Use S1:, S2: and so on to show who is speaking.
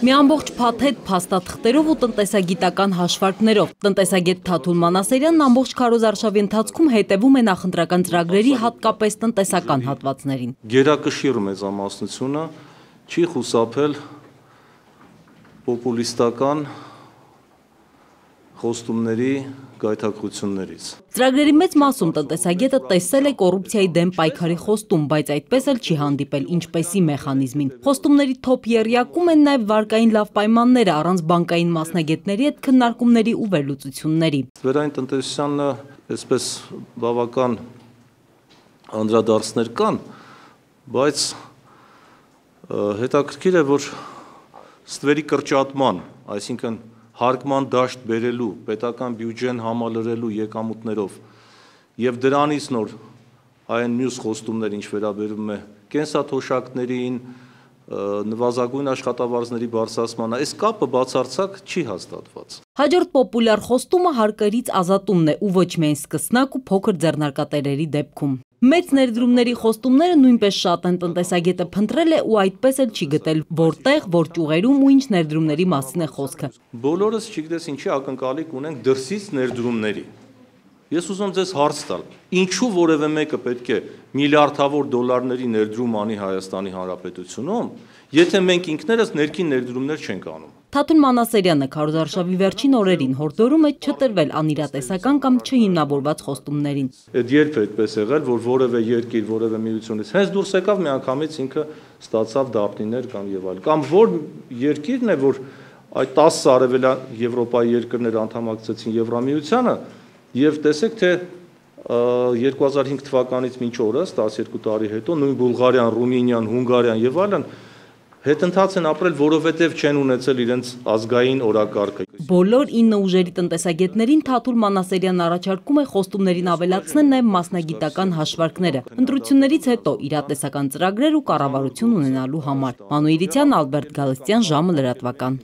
S1: Մի ամբողջ փաթեթ փաստաթղթերով ու տնտեսագիտական հաշվարկներով տնտեսագետ Թաթուլ Մանասերյանն ամբողջ քարոզարշավի ընթացքում հետևում է նախընտրական ծրագրերի հատկապես տնտեսական հատվածներին։
S2: Գերակշիռ մեծամասնությունը չի խուսափել պոպուլիստական խոստումների գայթակղություններից։
S1: Ծրագրերի մեծ մասում տնտեսագետը տեսել է կոռուպցիայի դեմ պայքարի խոստում, բայց այդպես էլ չի հանդիպել ինչպեսի մեխանիզմին։ Խոստումների թոփ եռյակում են նաև վարկային լավ պայմանները առանց բանկային մասնագետների հետ քննարկումների ու վերլուծությունների։
S2: Վերային տնտեսությանը այսպես բավական անդրադարձներ կան, բայց հետաքրքիր է, որ ստվերի կրճատման, այսինքն հարկման դաշտ բերելու, պետական բյուջեն համալրելու եկամուտներով եւ դրանից նոր այն մյուս խոստումներ, ինչ վերաբերում է կենսաթոշակներին, նվազագույն աշխատավարձների բարձրացմանը, այս կապը բացարձակ չի հաստատված։
S1: Հաջորդ պոպուլյար խոստումը հարկերից ազատումն է ու ոչ միայն սկսնակ ու փոքր ձեռնարկատերերի դեպքում։ Մեծ ներդրումների խոստումները նույնպես շատ են, տնտեսագետը փնտրել է ու այդպես էլ չի գտել, որտեղ, որ ճյուղերում ու ինչ ներդրումների մասին է խոսքը։
S2: Բոլորս չգիտես ինչի ակնկալիք ունենք դրսից ներդրումների։ Ես ուզում ձեզ հարց տալ, ինչու որևէ մեկը պետք է միլիարդավոր դոլարների ներդրում անի Հայաստանի Հանրապետությունում, եթե մենք ինքներս ներքին ներդրումներ չենք անում։
S1: Թաթուլ Մանասերյանը քարոզարշավի վերջին օրերին հորդորում է չտրվել անիրատեսական կամ չհիմնավորված խոստումներին։
S2: Այդ երբ է այդպես եղել, որ որևէ երկիր, որևէ միությունից հենց դուրս եկավ միանգամից ինքը ստացավ դափնիներ կամ եւ այլ։ Կամ որ երկիրն է, որ այդ 10 արևելյան Եվրոպայի երկրներ անդամակցեցին Եվրամիությանը եւ տեսեք թե 2005 թվականից մինչ օրս 12 տարի հետո նույն Բուլղարիան, Ռումինիան, Հունգարիան եւ այլն հետընթաց են ապրել, որովհետև չեն ունեցել իրենց ազգային օրակարգը։
S1: Բոլոր 9 ուժերի տնտեսագետներին Թաթուլ Մանասերյանն առաջարկում է խոստումներին ավելացնել նաև մասնագիտական հաշվարկները, ընտրություններից հետո իրատեսական ծրագրեր ու կառավարություն ունենալու համար։ Մանուիրցյան, Ալբերտ Գալստյան, ժամը լրատվական։